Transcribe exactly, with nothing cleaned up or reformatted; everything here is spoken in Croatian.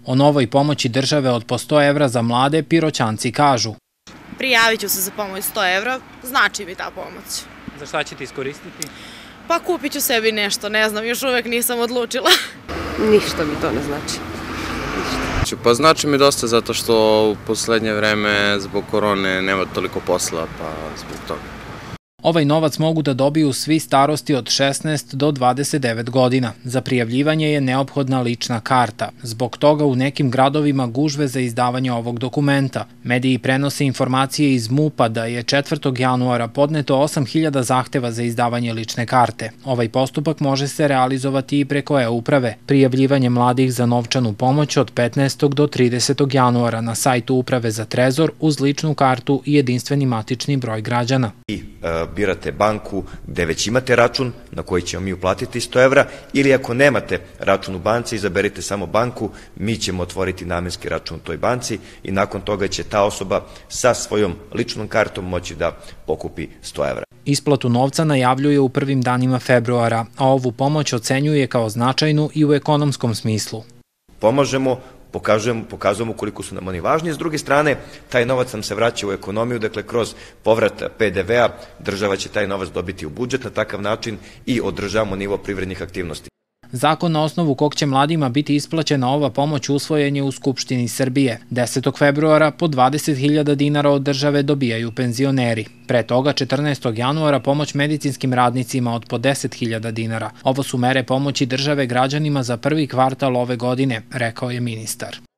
O novoj pomoći države od po sto evra za mlade Piroćanci kažu. Prijavit ću se za pomoć sto evra, znači mi ta pomoć. Za šta ćete iskoristiti? Pa kupit ću sebi nešto, ne znam, još uvek nisam odlučila. Ništa mi to ne znači. Pa znači mi dosta zato što u poslednje vreme zbog korone nema toliko posla, pa zbog toga. Ovaj novac mogu da dobiju svi starosti od šesnaest do dvadeset devet godina. Za prijavljivanje je neophodna lična karta. Zbog toga u nekim gradovima gužve za izdavanje ovog dokumenta. Mediji prenose informacije iz MUP-a da je četvrtog januara podneto osam hiljada zahteva za izdavanje lične karte. Ovaj postupak može se realizovati i preko e-uprave. Prijavljivanje mladih za novčanu pomoć od petnaestog do tridesetog januara na sajtu Uprave za trezor uz ličnu kartu i jedinstveni matični broj građana. I birate banku gde već imate račun na koji ćemo mi uplatiti sto evra ili ako nemate račun u banci, izaberite samo banku, mi ćemo otvoriti namenski račun u toj banci i nakon toga će ta osoba sa svojom ličnom kartom moći da pokupi sto evra. Isplatu novca najavljuje u prvim danima februara, a ovu pomoć ocenjuje kao značajnu i u ekonomskom smislu. Pomažemo, Pokazujemo, pokazujemo koliko su nam oni važni. S druge strane, taj novac nam se vraća u ekonomiju, dakle kroz povrat pe de ve a država će taj novac dobiti u budžet na takav način i održavamo nivo privrednih aktivnosti. Zakon na osnovu kog će mladima biti isplaćena ova pomoć usvojen je u Skupštini Srbije. desetog februara po dvadeset hiljada dinara od države dobijaju penzioneri. Pre toga četrnaestog januara pomoć medicinskim radnicima od po deset hiljada dinara. Ovo su mere pomoći države građanima za prvi kvartal ove godine, rekao je ministar.